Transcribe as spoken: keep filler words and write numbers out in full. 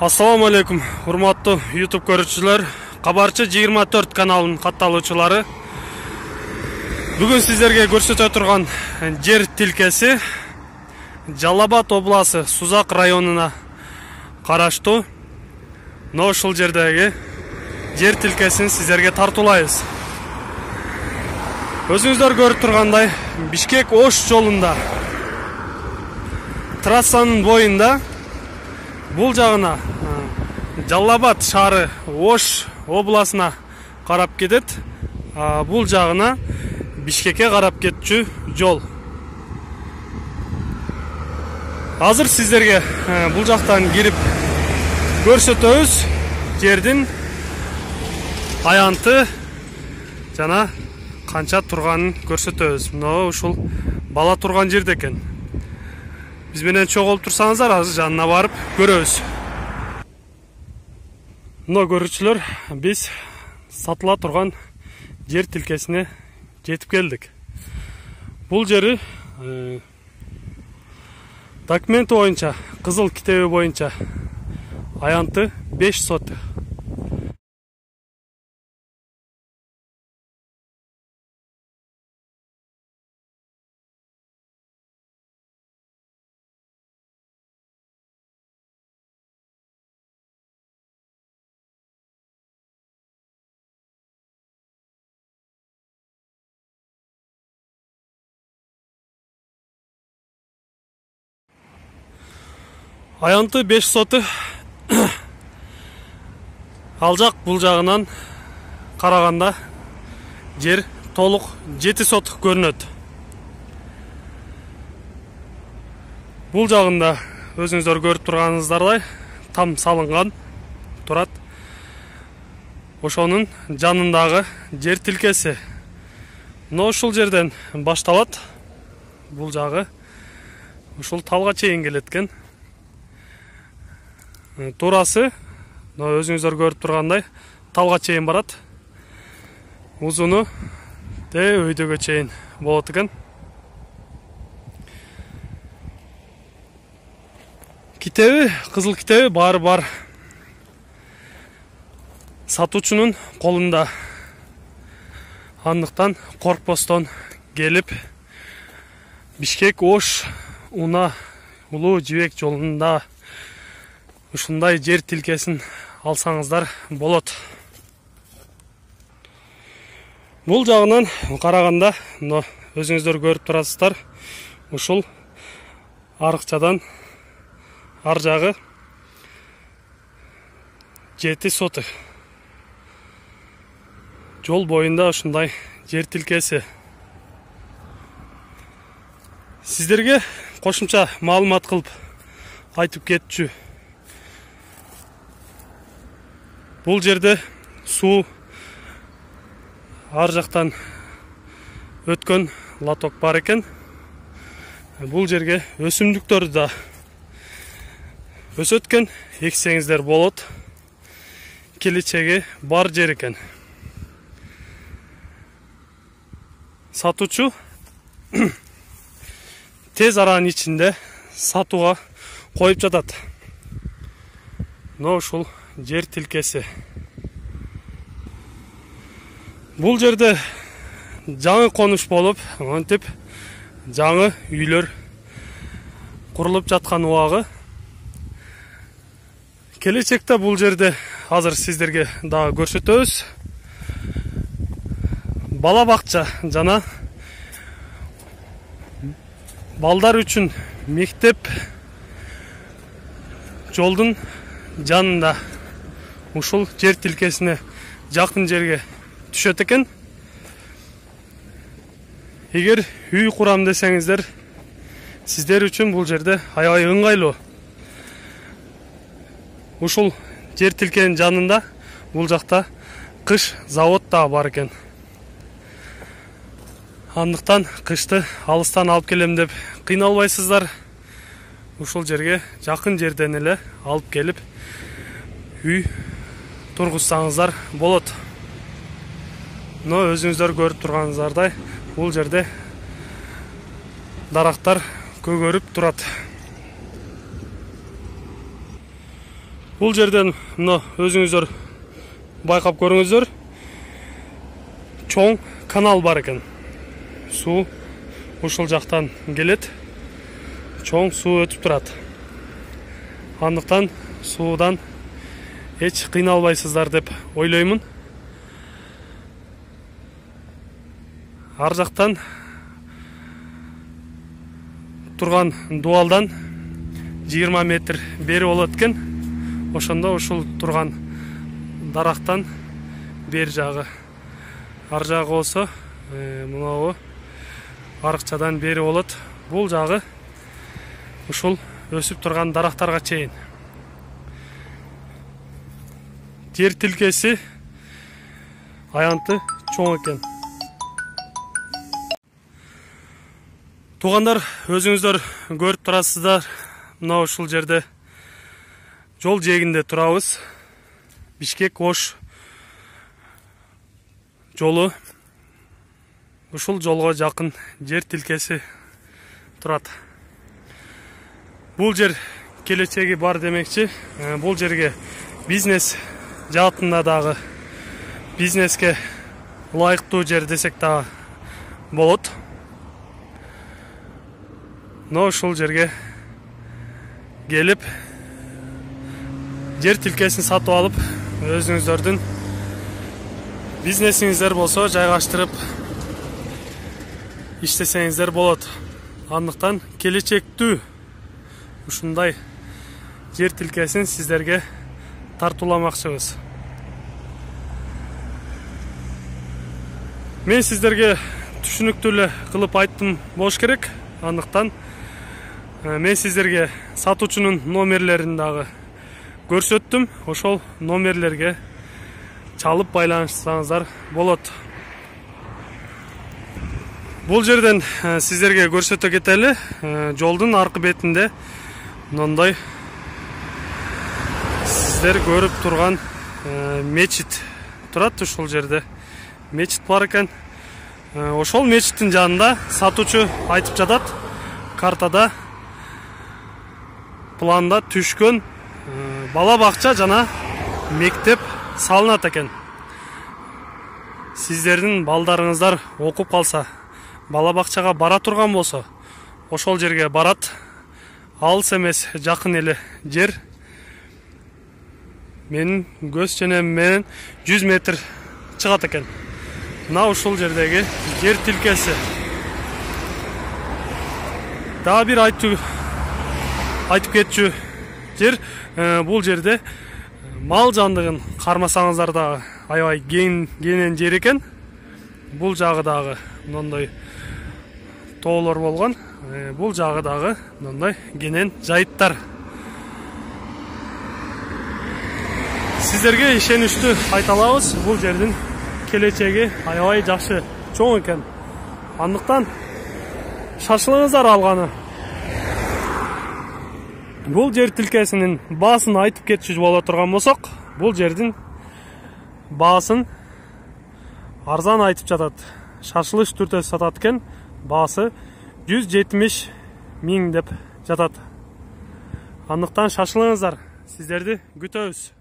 Ассаламу алейкум, урматтуу YouTube көрүүчүлөр, Кабарчы жыйырма төрт каналынын катталуучулары. Бүгүн сиздерге көрсөтө турган жер тилкеси Жалал Абад областы Сузак районуна караштуу. Но ушул жердеги жер тилкесин сиздерге тартуулайбыз. Өзүңүздөр көрүп тургандай, Бишкек-Ош жолунда трассанын боюнда бул жагына Жалал Абад шаары Ош областына карап кетет, бул жагына Бишкекке карап кетчү жол. Азыр сиздерге бул жактан кирип көрсөтөбүз жердин аянты жана канча турганын көрсөтөбүз. Мына ушул бала турган жерде экен. Биз менен чогулуп турсаңыздар, азыр жанына барып көрөбүз. Мына көрүүчүлөр, биз сатыла турган жер тилкесине жетип келдик. Бул жери документи боюнча, кызыл китеби боюнча аянты беш сотых. Аянты беш сотых. Ал жак бул жагынан караганда жер толук жети сотых көрүнөт. Бул жагында өзүңүздөр көрүп турганыңыздардай там салынган турат. Ошонун жанындагы жер тилкеси. Но ушул жерден башталат. Бул жагы ушул талга чейин келет экен. Турасы, өзүңүздөр көрүп тургандай, талга чейин барат. Узуну де өйдөгө чейин болот экен. Китеби, кызыл китеби баары бар. Сатуучунун колунда. Андыктан коркпостон келип Бишкек-Ош Уна Улуу Жибек жолунда ушундай жер тилкесин алсаңыздар болот. Бул жагынан караганда, мына өзүңүздөр көрүп турасыздар, ушул арыкчадан ар жагы жети сотых. Жол боюнда ушундай жер тилкеси. Сиздерге кошумча маалымат кылып айтып кетчү. Бул жерде суу ар жактан өткөн лоток бар экен. Бул жерге өсүмдүктөрдү да өсөткөн, эксеңиздер болот. Келечеги бар жер экен. Сатуучу тез аранын ичинде сатууга коюп жатат. Но ушул жер тилкеси. Бул жерде жаңы конуш болуп, антип жаңы үйлөр курулуп жаткан убагы. Келечекте бул жерде азыр сиздерге дагы көрсөтөбүз. Бала бакча жана балдар үчүн мектеп жолдун жанында ушул жер тилкесине жакын жерге түшөт экен. Эгер үй курам десеңиздер, сиздер үчүн бул жерде аябай ыңгайлуу. Ушул жер тилкенин жанында бул жакта кыш завод да бар экен. Андыктан кышты алыстан алып келем деп кыйналбайсыздар. Ушул жерге жакын жерден эле алып келип үй тургузсаңыздар болот. Но өзүңүздөр көрүп турганыңыздардай, бул жерде дарактар көгөрүп турат. Бул жерден мына өзүңүздөр байкап көрүңүздөр. Чоң канал бар экен. Суу ушул жактан келет. Чоң суу өтүп турат. Андыктан суудан эч кыйналбайсыздар деп ойлоймун. Ар жактан турган дуалдан жыйырма метр бери болот экен. Ошондо ушул турган дарактан бери жагы, ар жагы болсо мынабу арыкчадан бери болот. Бул жагы ушул өсүп турган дарактарга чейин. Жер тилкеси аянты чоң экен. Туугандар, өзүңүздөр көрүп турасыздар. Мына ушул жерде жол жээгинде турабыз. Бишкек-Ош жолу. Ушул жолго жакын жер тилкеси турат. Бул жер келечеги бар демекчи. Бул жерге бизнес жаатында дагы, бизнеске ылайыктуу жер десек дагы болот. Но ушул жерге келип жер тилкесин сатып алып, өзүңүздөрдүн бизнесиңиздер болсо жайгаштырып иштесеңиздер болот. Андыктан келечектүү ушундай жер тилкесин сиздерге тартууламакчыбыз. Мен сиздерге түшүнүктүү эле кылып айттым болуш керек. Андыктан мен сиздерге сатуучунун номерлерин дагы көрсөттүм. Ошол номерлерге чалып байланышсаңыздар болот. Бул жерден сиздерге көрсөтө кетели. Жолдун аркы бетинде мындай сиздер көрүп турган мечит турат. Ушул жерде мечит бар экен. Ошол мечиттин жанында сатуучу айтып жатат, картада планда түшкөн бала бакча жана мектеп салынат экен. Сиздердин балдарыңыздар окуп калса, бала бакчага бара турган болсо, ошол жерге барат. Алыс эмес, жакын эле жер. Менин көз ченем менен жүз метр чыгат экен. Мына ушул жердеги жер тилкеси. Дагы бир айтып айтып кетчү жер, бул жерде мал жандыгын кармасаңыздар дагы аябай кең кенен жер экен. Бул жагы дагы мындай тоолор болгон. Бул жагы дагы мындай кенен жайыттар. Сиздерге ишеничтүү айта алабыз, бул жердин келечеги аябай жакшы, чоң экен. Андыктан шашылыңыздар алганы. Бул жер тилкесинин баасын айтып кетчү боло турган болсок, бул жердин баасын арзан айтып жатат. Шашылыш түрдө сатат экен. Баасы жүз жетимиш миң деп жатат. Андыктан шашылыңыздар. Сиздерди күтөбүз.